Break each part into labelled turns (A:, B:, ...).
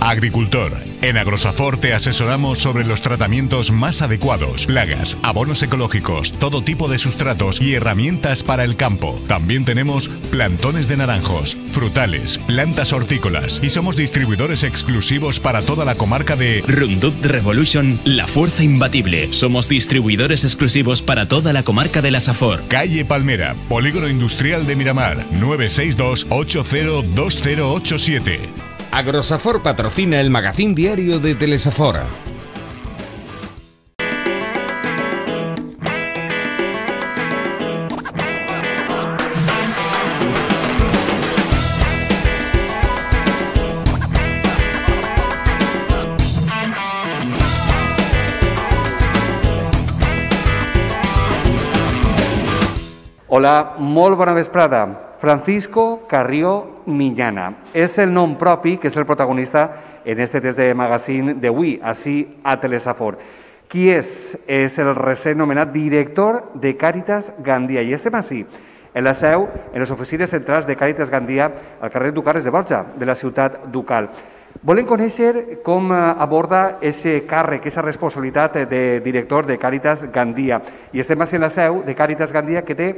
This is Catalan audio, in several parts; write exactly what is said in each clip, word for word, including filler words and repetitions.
A: Agricultor. En Agrosafor te asesoramos sobre los tratamientos más adecuados, plagas, abonos ecológicos, todo tipo de sustratos y herramientas para el campo. También tenemos plantones de naranjos, frutales, plantas hortícolas y somos distribuidores exclusivos para toda la comarca de
B: Roundup Revolution, la fuerza imbatible. Somos distribuidores exclusivos para toda la comarca de la Safor.
A: Calle Palmera, Polígono Industrial de Miramar, nueve seis dos, ocho cero dos cero ocho siete.
C: Agrosafor patrocina el magazín diario de Telesafora.
D: Hola, molt bona vesprada. Francisco Carrió Miñana. És el nom propi que és el protagonista en este test de magazine d'avui, així a Telesafor. Qui és? És el recent nomenat director de Càritas Gandia. I estem així, en la seu, en les oficines centrals de Càritas Gandia, al carrer Ducarres de Borja, de la ciutat ducal. Volem conèixer com aborda aquest càrrec, aquesta responsabilitat de director de Càritas Gandia. I estem així en la seu de Càritas Gandia, que té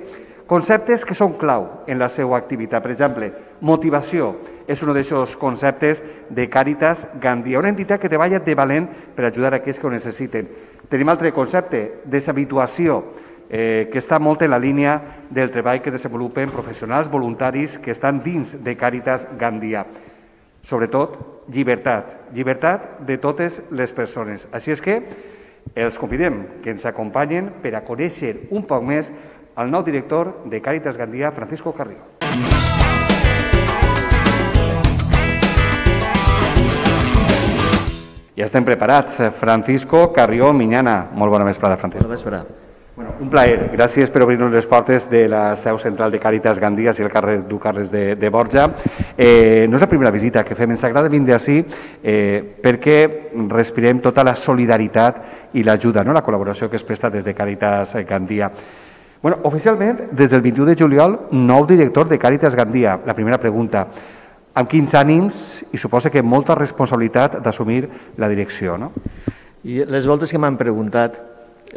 D: conceptes que són clau en la seva activitat. Per exemple, motivació és un d'aquests conceptes de Càritas Gandia, una entitat que treballa de valent per ajudar a aquells que ho necessiten. Tenim altre concepte, deshabituació, eh, que està molt en la línia del treball que desenvolupen professionals voluntaris que estan dins de Càritas Gandia. Sobretot, llibertat, llibertat de totes les persones. Així és que els convidem que ens acompanyen per a conèixer un poc més el nou director de Càritas Gandia, Francisco Carrió. Ja estem preparats. Francisco Carrió Miñana. Molt bona vesprada, Francisco.
E: Bona vesprada.
D: Bueno, un plaer. Gràcies per obrir-nos les portes de la seu central de Càritas Gandia i el carrer Ducarres de, de Borja. Eh, no és la primera visita que fem. Ens agrada vindre així eh, perquè respirem tota la solidaritat i l'ajuda, no? La col·laboració que es presta des de Càritas Gandia. Bueno, oficialment, des del vint-i-u de juliol, nou director de Càritas Gandia. La primera pregunta, amb quins ànims i suposa que molta responsabilitat d'assumir la direcció, no?
E: I les voltes que m'han preguntat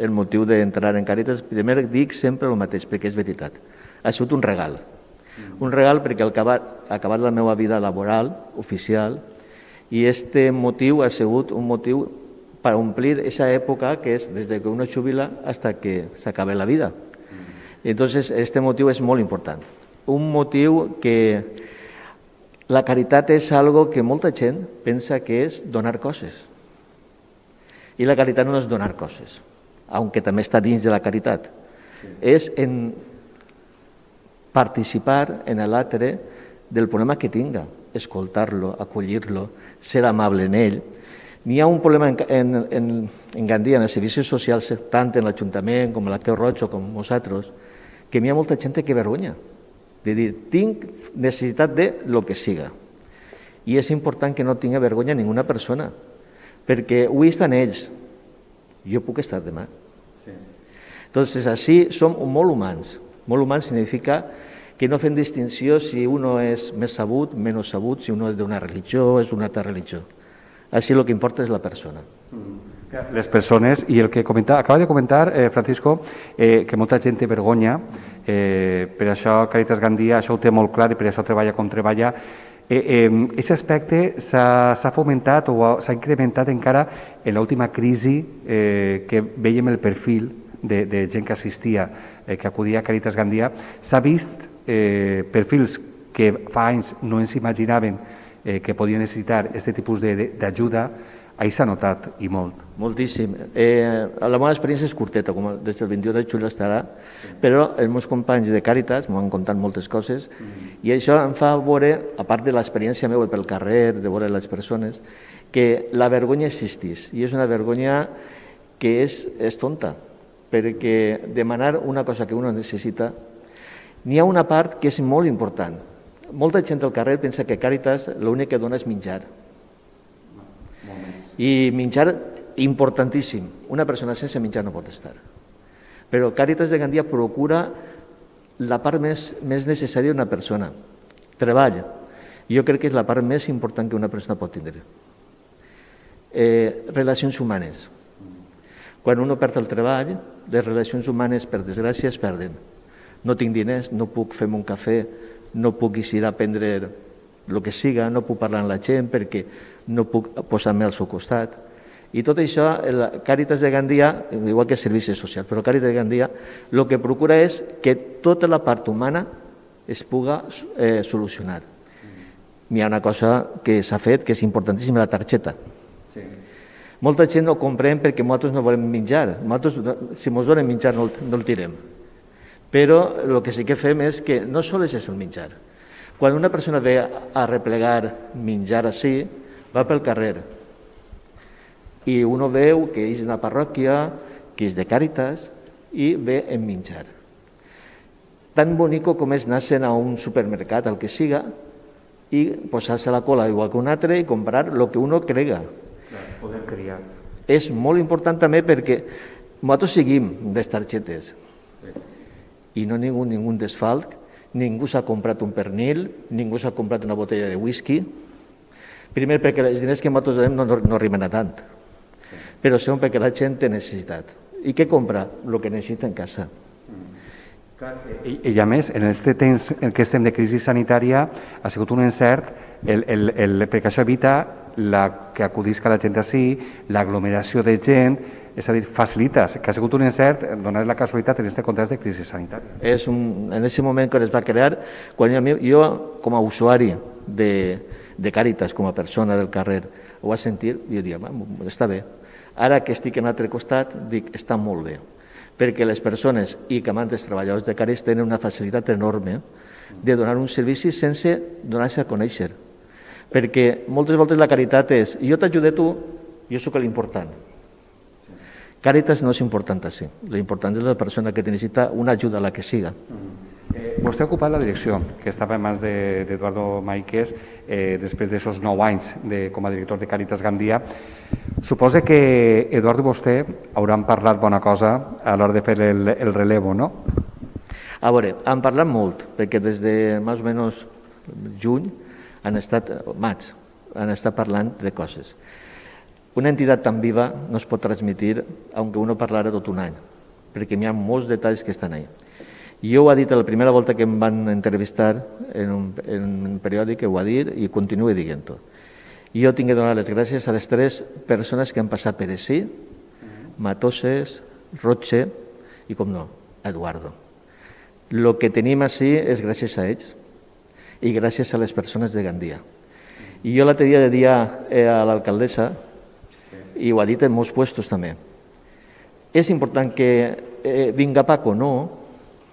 E: el motiu d'entrar en Càritas, primer dic sempre el mateix, perquè és veritat. Ha sigut un regal. Un regal perquè ha acabat, ha acabat la meva vida laboral, oficial, i este motiu ha sigut un motiu per omplir aquesta època que és des que uno jubila fins que s'acabe la vida. Entonces, este motiu és molt important. Un motiu que la caritat és algo que molta gent pensa que és donar coses. I la caritat no és donar coses, aunque també està dins de la caritat. És en participar en l'altre del problema que tinga, escoltar-lo, acollir-lo, ser amable en ell. N'hi ha un problema en, en, en, en Gandia, en els servicis socials, tant en l'Ajuntament com en la Creu Roja com nosaltres, que n'hi ha molta gent que vergonya, de dir, tinc necessitat de lo que siga. I és important que no tinga vergonya ninguna persona, perquè avui estan ells, jo puc estar demà. Sí. Entonces, així som molt humans. Molt humans significa que no fem distinció si uno és més sabut, menys sabut, si uno és d'una religió o és d'una altra religió. Així el que importa és la persona.
D: Les persones, i el que comenta, acaba de comentar, eh, Francisco, eh, que molta gent té vergonya, eh, per això Càritas Gandia, això ho té molt clar i per això treballa com treballa. Aquest eh, eh, aspecte s'ha fomentat o s'ha incrementat encara en l'última crisi eh, que veiem el perfil de, de gent que assistia, eh, que acudia a Càritas Gandia. S'ha vist eh, perfils que fa anys no ens imaginaven eh, que podien necessitar aquest tipus d'ajuda. Ahí s'ha notat, i molt.
E: Moltíssim. Eh, la meva experiència és curteta, com des del vint-i-u de juliol estarà, però els meus companys de Càritas m'han contat moltes coses i això em fa veure, a part de l'experiència meva pel carrer, de veure les persones, que la vergonya existís i és una vergonya que és, és tonta, perquè demanar una cosa que uno necessita, n'hi ha una part que és molt important. Molta gent al carrer pensa que Càritas l'únic que dona és menjar. I menjar importantíssim. Una persona sense menjar no pot estar. Però Càritas de Gandia procura la part més, més necessària d'una persona. Treball. Jo crec que és la part més important que una persona pot tindre. Eh, relacions humanes. Quan un perd el treball, les relacions humanes, per desgràcia, es perden. No tinc diners, no puc fer-me un cafè, no puc eixir a prendre el que siga, no puc parlar amb la gent perquè no puc posar-me al seu costat. I tot això, el Càritas de Gandia, igual que Servicis Socials, però Càritas de Gandia el que procura és que tota la part humana es puga eh, solucionar. Hi ha una cosa que s'ha fet que és importantíssima, la targeta. Sí. Molta gent no comprèn perquè nosaltres no volem menjar. Nosaltres, si ens donen menjar, no el, no el tirem. Però el que sí que fem és que no sols és el menjar. Quan una persona ve a replegar menjar així, va pel carrer i uno veu que és una parròquia, que és de Càritas i ve en menjar. Tan bonico com és anar a un supermercat, el que siga, i posar-se a la cola igual que un altre i comprar el que uno crega.
D: Poder triar.
E: És molt important també perquè nosaltres seguim les targetes i no ningú, ningú desfalc, ningú s'ha comprat un pernil, ningú s'ha comprat una botella de whisky. Primer perquè els diners que nosaltres donem no, no arriben a tant, però segon perquè la gent té necessitat. I què compra? El que necessita en casa.
D: I, i a més, en aquest temps en què estem de crisi sanitària ha sigut un encert el, el, el, perquè això evita la, que acudisca la gent així, l'aglomeració de gent, és a dir, facilites, que ha sigut un encert, donar la casualitat en aquest context de crisi sanitària.
E: És un, en aquest moment que es va crear, quan jo, jo com a usuari de, de Càritas, com a persona del carrer, ho va sentir, i jo diria, està bé. Ara que estic en l'altre costat, dic, està molt bé, perquè les persones i que els treballadors de Càritas tenen una facilitat enorme de donar un servici sense donar-se a conèixer. Perquè moltes voltes la caritat és, jo t'ajude tu, jo sóc l'important. Càritas no és important així, l'important és la persona que necessita una ajuda a la que siga.
D: Eh, vostè ha ocupat la direcció, que estava en mans d'Eduardo Maiquez, eh, després d'aquests nou anys de, com a director de Càritas Gandia. Suposa que Eduardo i vostè hauran parlat bona cosa a l'hora de fer el, el relevo, no?
E: A veure, han parlat molt, perquè des de més o menys juny han estat, maig, han estat parlant de coses. Una entitat tan viva no es pot transmitir, aunque uno parlara tot un any, perquè hi ha molts detalls que estan ahí. Jo ho ha dit la primera volta que em van entrevistar en un, en un periòdic, ho ha dit i continuo dient-ho. Jo tinc que donar les gràcies a les tres persones que han passat per així, Matoses, Roche i, com no, Eduardo. El que tenim així és gràcies a ells i gràcies a les persones de Gandia. I jo l'altre dia de dia a l'alcaldessa, i ho ha dit en molts puestos també, és important que eh, vinga Paco, no.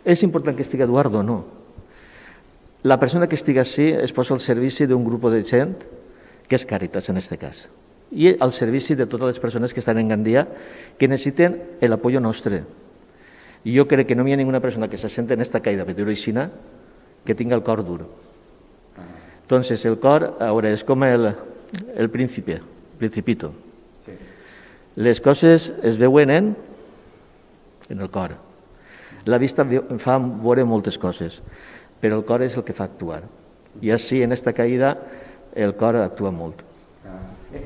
E: És important que estigui Eduardo, no. La persona que estigui així es posa al servici d'un grup de gent que és Càritas en aquest cas, i al servici de totes les persones que estan en Gandia que necessiten l'apoyo nostre. I jo crec que no hi ha ninguna persona que se sente en esta caïda pedroixina que tingui el cor dur. Entonces, el cor, ahora, és com el, el príncipe, principito. Sí. Les coses es veuen en, en el cor. La vista fa veure moltes coses, però el cor és el que fa actuar. I així, en esta caïda, el cor actua molt.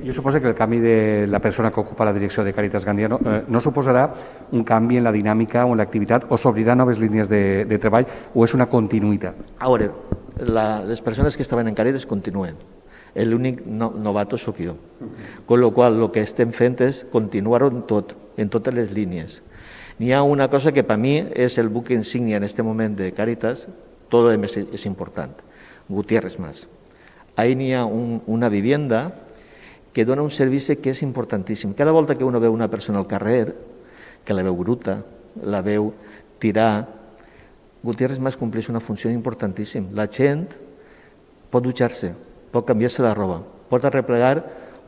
D: Jo suposo que el canvi de la persona que ocupa la direcció de Càritas Gandia no, eh, no suposarà un canvi en la dinàmica o en l'activitat, o s'obrirà noves línies de, de treball, o és una continuïtat?
E: A veure, la, les persones que estaven en Càritas continuen. L'únic no, novato sóc jo. Con lo qual, el que estem fent és continuar-ho en tot, en totes les línies. N'hi ha una cosa que per mi és el buc insígnia en aquest moment de Càritas, tot el més és important, Gutiérrez Mas. Ahí n'hi ha un, una vivienda que dona un servici que és importantíssim. Cada volta que uno veu una persona al carrer, que la veu bruta, la veu tirar, Gutiérrez Mas compleix una funció importantíssima. La gent pot dutxar-se, pot canviar-se la roba, pot arreplegar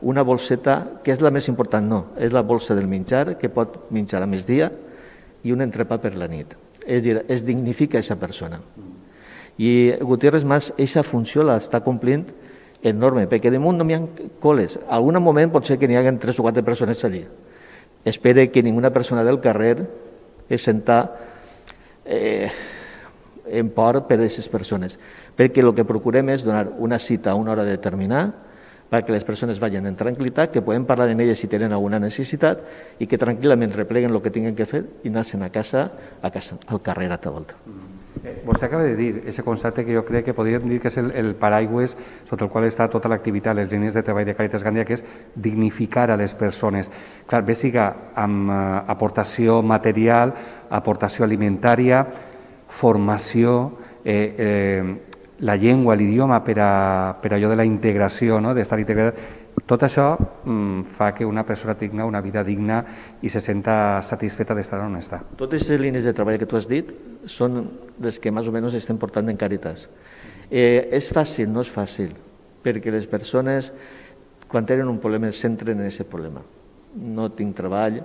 E: una bolseta, que és la més important, no, és la bolsa del menjar, que pot menjar a migdia i un entrepà per la nit. És dir, es dignifica aquesta persona. I Gutiérrez Mas, aquesta funció l'està complint enorme, perquè damunt no hi ha coles. En algun moment pot ser que n'hi hagi tres o quatre persones allí. Espere que ninguna persona del carrer es senta eh, en por per a aquestes persones, perquè el que procurem és donar una cita a una hora determinada perquè les persones vagin en tranquil·litat, que poden parlar en elles si tenen alguna necessitat i que tranquil·lament repleguen el que tinguin que fer i anar-se'n a casa, a casa, al carrer a tota volta.
D: Vostè acaba de dir aquest concepte que jo crec que podríem dir que és el, el paraigües sota el qual està tota l'activitat, les línies de treball de Càritas Gandia, que és dignificar a les persones. Clar, bé siga amb eh, aportació material, aportació alimentària, formació, eh, eh, la llengua, l'idioma per, a, per allò de la integració, no? D'estar integrat. Tot això mm, fa que una persona tingui una vida digna i se senta satisfeta d'estar on està.
E: Totes les línies de treball que tu has dit són les que més o menys estem portant en Càritas. Eh, és fàcil, no és fàcil, perquè les persones, quan tenen un problema, es centren en aquest problema. No tinc treball,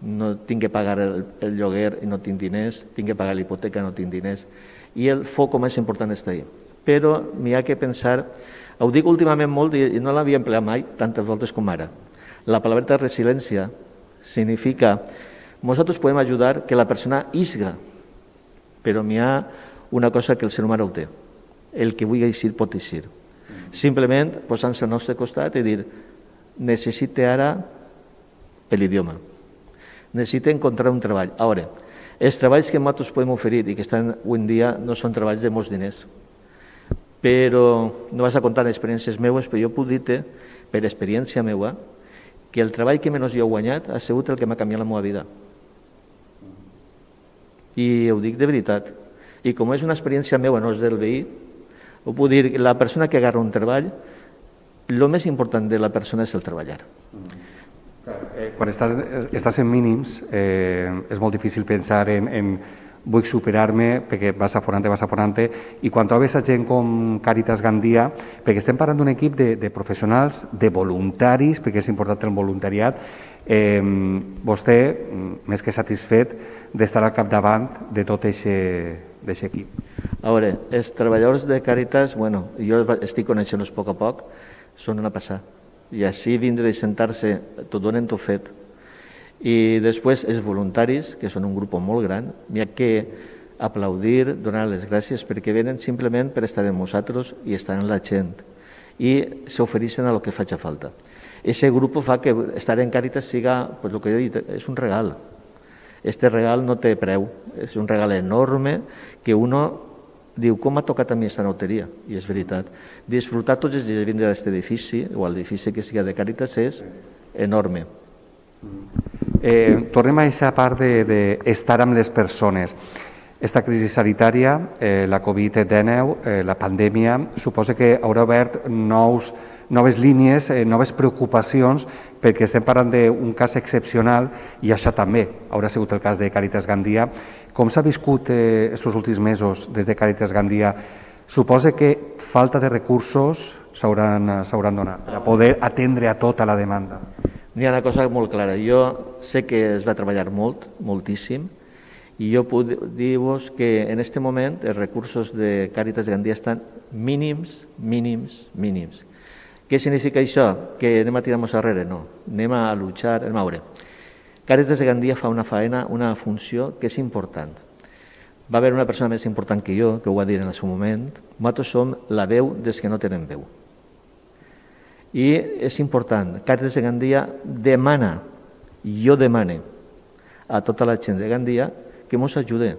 E: no tinc que pagar el, el lloguer i no tinc diners, tinc que pagar l'hipoteca i no tinc diners, i el foc més important està ahí. Però m'hi ha que pensar, ho dic últimament molt i no l'havia empleat mai tantes voltes com ara. La paraula resiliència significa nosaltres podem ajudar que la persona isga, però n'hi ha una cosa que el ser humà ho té, el que vulgui eixir pot eixir. Simplement posant-se al nostre costat i dir necessite ara l'idioma, necessite encontrar un treball. Ara, els treballs que nosaltres podem oferir i que estan avui en dia no són treballs de molts diners, però no vas a contar experiències meues, però jo puc dir-te, per experiència meua, que el treball que menys jo he guanyat ha sigut el que m'ha canviat la meva vida. I ho dic de veritat. I com és una experiència meua, no és del veí, ho puc dir, la persona que agarra un treball, el més important de la persona és el treballar.
D: Quan estàs, estàs en mínims, eh, és molt difícil pensar en, en vull superar-me, perquè vas aforant-te, vas aforant-te, i quan trobes a gent com Càritas Gandia, perquè estem parlant d'un equip de, de professionals, de voluntaris, perquè és important el voluntariat, eh, vostè, més que satisfet d'estar al capdavant de tot aquest equip.
E: A veure, els treballadors de Càritas, bueno, jo estic coneixent-los a poc a poc, són una passada. I així vindre i sentar-se, t'ho donen tot fet. I després els voluntaris, que són un grup molt gran, n'hi ha que aplaudir, donar les gràcies perquè venen simplement per estar amb nosaltres i estar amb la gent i s'ofereixen a el que faci falta. Aquest grup fa que estar en Càritas siga, pues, el que he dit, és un regal. Este regal no té preu, és un regal enorme que uno diu, com m'ha tocat a mi aquesta noteria? I és veritat. Disfrutar tots els dies de vindre a aquest edifici, o a l'edifici que siga de Càritas, és enorme.
D: Eh, tornem a aquesta part d'estar amb les persones. Esta crisi sanitària, eh, la covid dinou, eh, la pandèmia, suposa que haurà obert nous, noves línies, eh, noves preocupacions, perquè estem parlant d'un cas excepcional i això també haurà sigut el cas de Càritas Gandia. Com s'ha viscut aquests eh, últims mesos des de Càritas Gandia? Suposa que falta de recursos s'hauran donat per poder atendre a tota la demanda.
E: N'hi ha una cosa molt clara. Jo sé que es va treballar molt, moltíssim, i jo puc dir-vos que en aquest moment els recursos de Càritas Gandia estan mínims, mínims, mínims. Què significa això? Que anem a tirar-nos darrere? No. Anem a luchar, anem a veure. Càritas Gandia fa una faena, una funció que és important. Va haver una persona més important que jo, que ho va dir en el seu moment. Nosaltres som la veu dels que no tenen veu. I és important, Càritas de Gandia demana, jo demane a tota la gent de Gandia que ens ajude.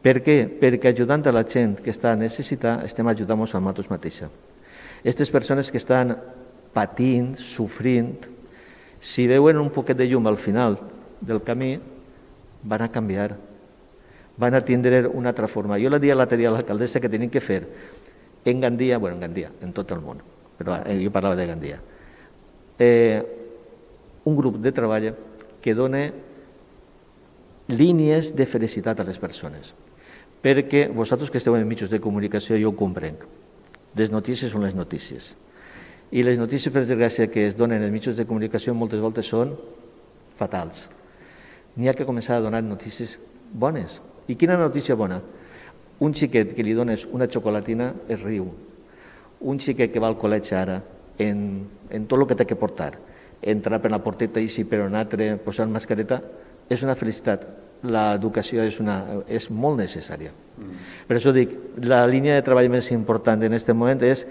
E: Per què? Perquè ajudant a la gent que està necessitada estem ajudant-nos a nosaltres mateixa. Aquestes persones que estan patint, sofrint, si veuen un poquet de llum al final del camí, van a canviar, van a tindre una altra forma. Jo la dia l'altre dia a l'alcaldessa que tenim que fer en Gandia, bueno, en Gandia, en tot el món, però jo parlava de Gandia, eh, un grup de treball que dona línies de felicitat a les persones. Perquè vosaltres que esteu en mitjans de comunicació jo ho comprenc. Les notícies són les notícies. I les notícies, per desgràcia, que es donen en els mitjans de comunicació moltes voltes són fatals. N'hi ha que començar a donar notícies bones. I quina notícia bona? Un xiquet que li dones una xocolatina es riu. Un xiquet que va al col·legi ara, en, en tot el que té que portar, entrar per la porteta i si per un altre posar mascareta, és una felicitat. L'educació és, una, és molt necessària. Mm. Per això dic, la línia de treball més important en aquest moment és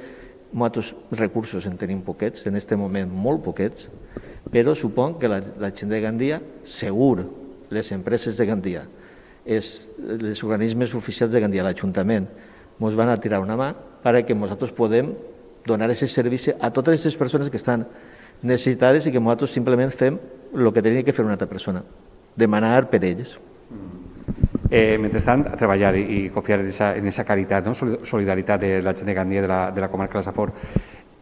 E: Nosaltres recursos en tenim poquets, en aquest moment molt poquets, però supon que la, la gent de Gandia, segur, les empreses de Gandia, és, els organismes oficials de Gandia, l'Ajuntament, ens van a tirar una mà perquè nosaltres podem donar aquest servei a totes aquestes persones que estan necessitades i que nosaltres simplement fem el que tenia que fer una altra persona, demanar per ells.
D: Eh, mentrestant, treballar i, i confiar en aquesta caritat, no? Solidaritat de la gent de Gandia, de la, de la comarca de la Safor.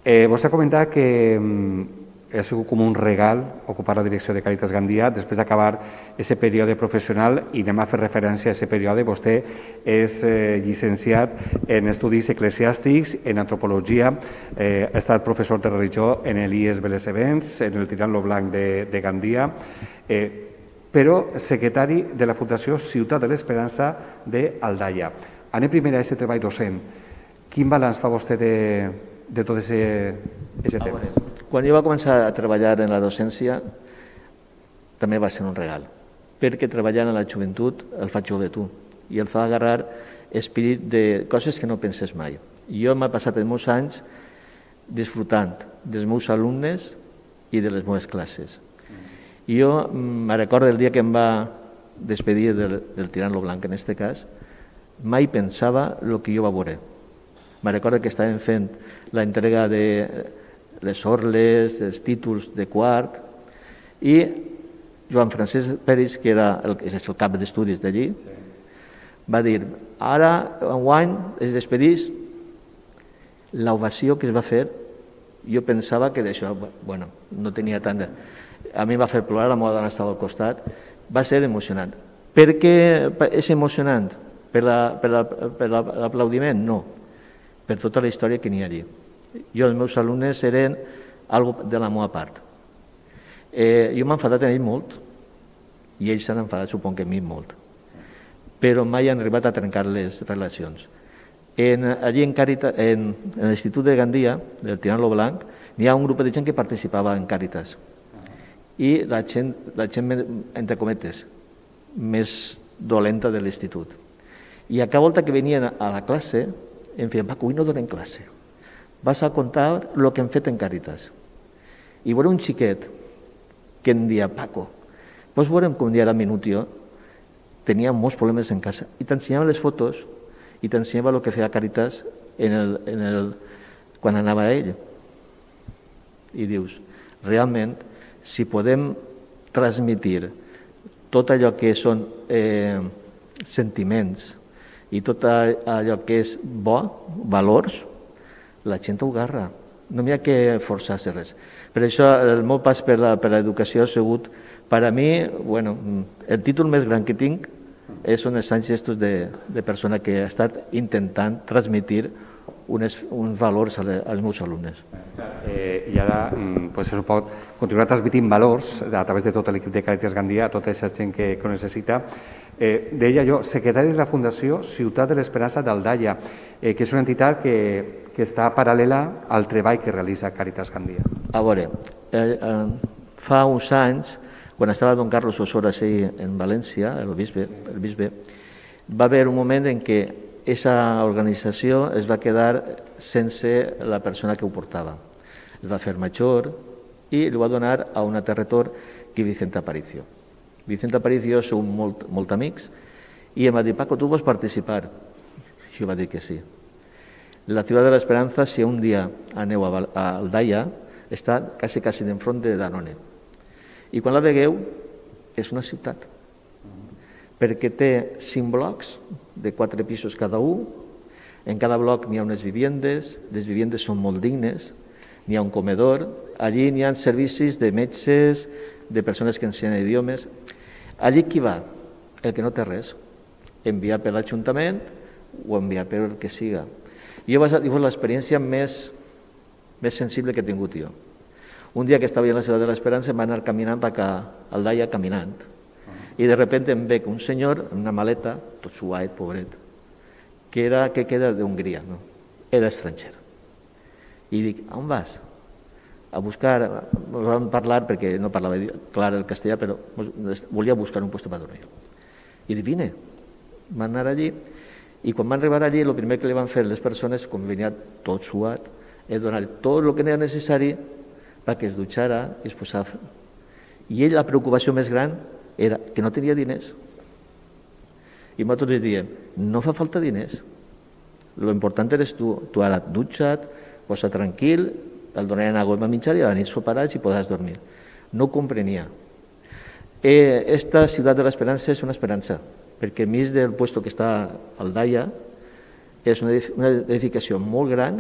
D: Eh, vostè ha comentat que mm, ha sigut com un regal ocupar la direcció de Càritas Gandia després d'acabar aquest període professional, i anem a fer referència a aquest període. Vostè és eh, llicenciat en estudis eclesiàstics, en antropologia, eh, ha estat professor de religió en l'I E S Belesebens, en el Tirant lo Blanc de, de Gandia, eh, però secretari de la Fundació Ciutat de l'Esperança d'Aldaia. Anem primer a aquest treball docent. Quin balanç fa vostè de, de tot aquest temps?
E: Quan jo vaig començar a treballar en la docència, també va ser un regal, perquè treballant en la joventut el fa jove tu, i el fa agarrar espírit de coses que no penses mai. Jo m'he passat els meus anys disfrutant dels meus alumnes i de les meves classes. Jo me recordo el dia que em va despedir del, del Tirant lo Blanc, en aquest cas, mai pensava el que jo va veure. Me recordo que estàvem fent la entrega de les orles, els títols de quart, i Joan Francesc Peris, que era el, és el cap d'estudis d'allí, sí, va dir, ara, enguany, es despedís, l'ovació que es va fer, jo pensava que d'això, bueno, no tenia tant de... A mi va fer plorar, la meva dona estava al costat, va ser emocionant. Per què és emocionant? Per l'aplaudiment? No. Per tota la història que n'hi ha allí. Jo, els meus alumnes eren algo de la meva part. Eh, jo m'he enfadat en ells molt, i ells s'han enfadat, supon que a mi molt. Però mai han arribat a trencar les relacions. En, allí en, Càritas, en, en l'Institut de Gandia, del Tirant lo Blanc, n'hi ha un grup de gent que participava en Càritas. I la gent, la gent, entre cometes, més dolenta de l'institut. I a cada volta que venien a la classe, em feien, Paco, avui no donem classe. Vas a contar el que hem fet en Càritas. I veure un xiquet que em dia, Paco, doncs veurem com dia era Minutio, tenia molts problemes en casa. I t'ensenyava les fotos i t'ensenyava el que feia Càritas en el, en el, quan anava a ell. I dius, realment, si podem transmitir tot allò que són eh, sentiments i tot allò que és bo, valors, la gent ho agarra. No n'hi ha que forçar-se res. Per això el meu pas per l'educació ha sigut, per a mi, bueno, el títol més gran que tinc són els anys estos de, de persona que ha estat intentant transmitir unes, uns valors als meus alumnes.
D: Eh, I ara pues, se pot continuar transmitint valors a través de tot l'equip de Càritas Gandia a tota aquesta gent que, que ho necessita. Eh, deia jo, secretari de la Fundació Ciutat de l'Esperança d'Aldaia, eh, que és una entitat que, que està paral·lela al treball que realitza Càritas Gandia.
E: A veure, eh, eh, fa uns anys, quan estava don Carlos Osora en València, el bisbe, el bisbe, va haver un moment en què aquesta organització es va quedar sense la persona que ho portava. Es va fer major i li va donar a un altre retor, que Vicente Aparicio. Vicente Aparicio som molt, molt amics i em va dir, Paco, tu vols participar? Jo va dir que sí. La Ciutat de l'Esperança, si un dia aneu a Aldaia, està quasi, quasi d'enfront de Danone. I quan la vegueu, és una ciutat, perquè té cinc blocs de quatre pisos cada un. En cada bloc n'hi ha unes viviendes, les viviendes són molt dignes, n'hi ha un comedor, allí n'hi ha servicis de metges, de persones que ensenyen idiomes. Allí qui va? El que no té res. Enviar per l'Ajuntament o enviar per el que siga. Jo vaig dir l'experiència més, més sensible que he tingut jo. Un dia que estava a la Ciutat de l'Esperança em va anar caminant cap a Aldaia caminant. I de repente em veig un senyor amb una maleta, tot suat, pobret, que era que queda d'Hongria, no? Era estranger. I dic, on vas? A buscar, vam parlar perquè no parlava clar el castellà, però volia buscar un lloc per dormir. I dic, vine. Van anar allí, i quan van arribar allí, el primer que li van fer les persones, com venia tot suat, he donat tot el que era necessari perquè es dutxara i es posava. I ell la preocupació més gran era que no tenia diners. I nosaltres li diem, no fa falta diners, lo important eres tu, tu ara dutxa't, posa tranquil, el donarem aigua per menjar i a la nit soparàs i podràs dormir. No ho comprenia. Eh, esta ciutat de l'esperança és una esperança, perquè a més del puesto que està al Daya, és una edificació molt gran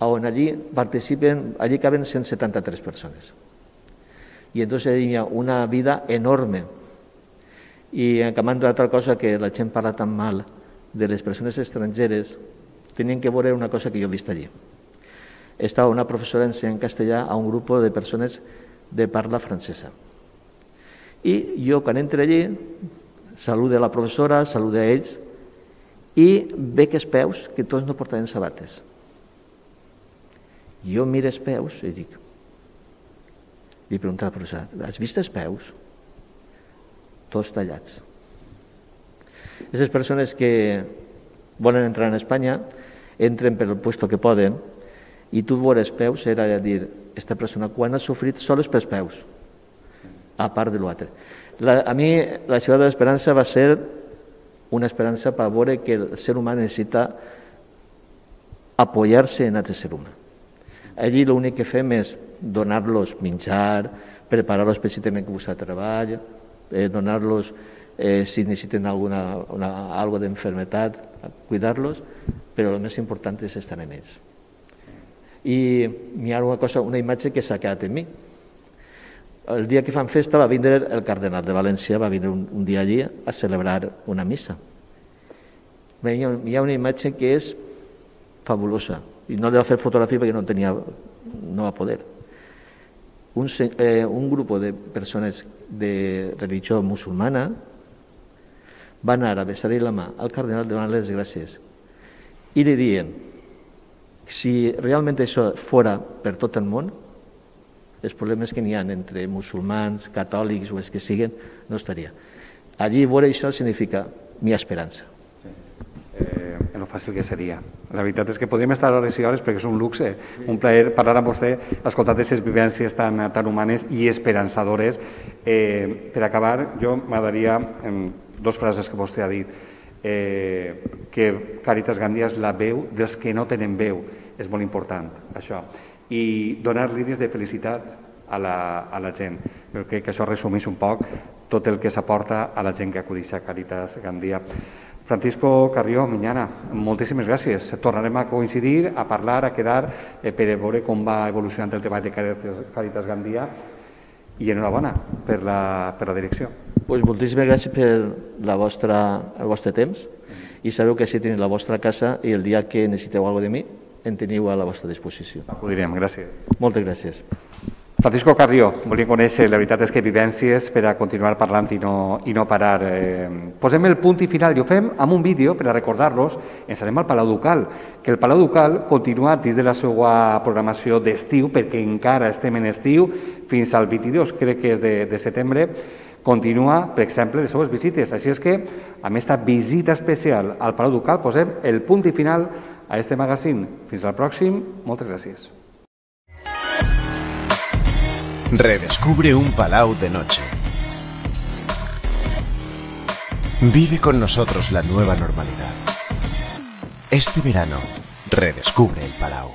E: on allí participen, allí caben cent setanta-tres persones. I entonces hi ha una vida enorme. I acabant d'altra cosa que la gent parla tan mal de les persones estrangeres, tenien que veure una cosa que jo he vist allí. Estava una professora ensenyant castellà a un grup de persones de parla francesa. I jo, quan entro allí, saludo a la professora, saludo a ells, i veig els peus que tots no portaven sabates. Jo miro els peus i dic, li pregunto a la professora, has vist els peus? Tots tallats. Aquestes persones que volen entrar en Espanya entren per el puesto que poden i tu veure els peus era dir, aquesta persona quan ha sofrit sols pels peus, a part de l'altre. A mi la ciutat de l'Esperança va ser una esperança per veure que el ser humà necessita apoyar-se en altre ser humà. Allí l'únic que fem és donar-los menjar, preparar-los precisament que buscar treball, eh, donar-los, eh, si necessiten alguna, una, algo d'enfermetat, cuidar-los, però el més important és estar en ells. I hi ha una cosa, una imatge que s'ha quedat en mi. El dia que fan festa va vindre el cardenal de València, va vindre un, un dia allí a celebrar una missa. Hi ha, hi ha una imatge que és fabulosa, i no li va fer fotografia perquè no tenia, no va poder. Un, eh, un grup de persones de religió musulmana va anar a besar-li la mà al cardenal donant-li les gràcies i li diuen si realment això fora per tot el món, els problemes que n'hi ha entre musulmans, catòlics o els que siguin, no estaria. Allí veure això significa mi esperança.
D: Sí. Eh, en lo fàcil que seria. La veritat és que podríem estar hores i hores perquè és un luxe, un plaer parlar amb vostè, escoltar aquestes vivències tan, tan humanes i esperançadores. Eh, per acabar, jo m'agradaria, en dues frases que vostè ha dit, eh, que Càritas Gandia és la veu dels que no tenen veu. És molt important, això. I donar línies de felicitat a la, a la gent. Jo crec que això resumeix un poc tot el que s'aporta a la gent que acudeix a Càritas Gandia. Francisco Carrió Miñana, moltíssimes gràcies. Tornarem a coincidir, a parlar, a quedar eh, per veure com va evolucionant el treball de Càritas, Càritas Gandia i enhorabona per la, per la direcció.
E: Pues moltíssimes gràcies per la vostra, el vostre temps i sabeu que si teniu la vostra casa i el dia que necessiteu alguna cosa de mi en teniu a la vostra disposició.
D: Acudirem, gràcies.
E: Moltes gràcies.
D: Francisco Carrió, volíem conèixer, la veritat és que vivències per a continuar parlant i no, i no parar. Eh, posem el punt i final i ho fem amb un vídeo per a recordar-los. Ens anem al Palau Ducal, que el Palau Ducal continua dins de la seva programació d'estiu, perquè encara estem en estiu, fins al vint-i-dos, crec que és de, de setembre, continua, per exemple, les seues visites. Així és que, amb aquesta visita especial al Palau Ducal, posem el punt i final a este magazine. Fins al pròxim, moltes gràcies.
F: Redescubre un palau de noche. Vive con nosotros la nueva normalidad. Este verano, redescubre el palau.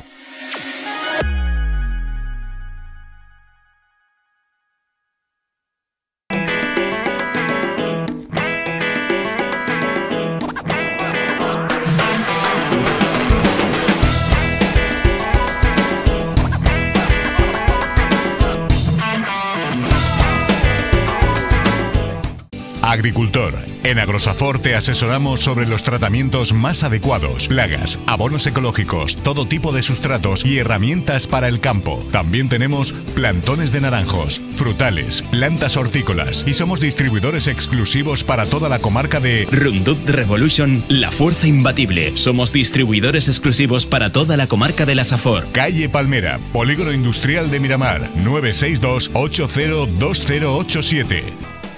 A: Agricultor. En Agrosafor te asesoramos sobre los tratamientos más adecuados, plagas, abonos ecológicos, todo tipo de sustratos y herramientas para el campo. También tenemos plantones de naranjos, frutales, plantas hortícolas y somos distribuidores exclusivos para toda la comarca de
B: Roundup Revolution, la fuerza imbatible. Somos distribuidores exclusivos para toda la comarca de la Safor.
A: Calle Palmera, Polígono Industrial de Miramar, nueve seis dos, ocho cero dos cero ocho siete.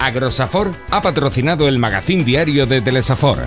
C: Agrosafor ha patrocinado el magazín diario de Telesafor.